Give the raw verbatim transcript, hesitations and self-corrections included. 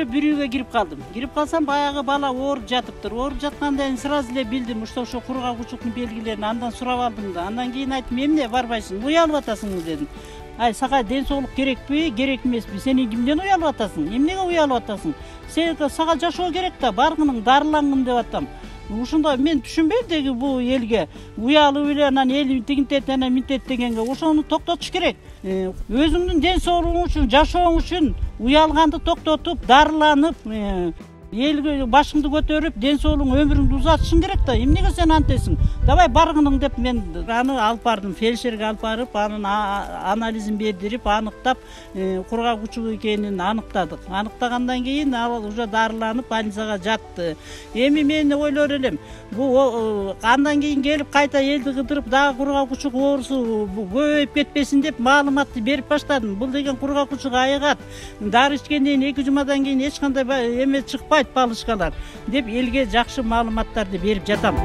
эле бир үйгө кирип калдым. Кирип калсам баягы бала ооруп жатыптыр. Ооруп жаткандан кийин сразу эле билдим, ошо ошо кургакчылыктын белгилерин. Андан сурап алдым да. Андан кийин айттым, эмне барбайсың? Уялып атасыңбы дедим. Ай, сага ден соолук керекпи, керек эмеспи? Сен эмнеден уялып атасың? Эмнеге уялып атасың? Сен сага жашоо керек да, баргының дарылангын деп атам. Ушундай мен түшүнбөйм деги бул элге. Уялып эле анан эл тигинтет, анан минтет дегенге ошону токтотуш керек. Өзүңдүн ден соолугуң үчүн, жашооң үчүн уялганды токтотуп, дарыланып, элге башыңды көтөрүп, ден соолугуң, өмүрүңдү узатышың керек да. Эмнеге сен антесиң? Давай баргының деп мен аны алып бардым, фельдшерге алып барып, анын анализин бердирип, аныктап, кургак экенин аныктадык. Аныктагандан кийин ал уже дарыланып больницага жатты. Эми мен ойлор элем, бул андан кийин келип кайта элди кыдырып, дагы кургак учук оорусу көбөйүп кетпесин деп маалыматты берип баштадым. Бул деген кургак учук айыгат. Дары ичкенден эки жумадан кийин эч кандай эме чыкпайт, палычкалар деп элге жакшы маалыматтарды берип жатам.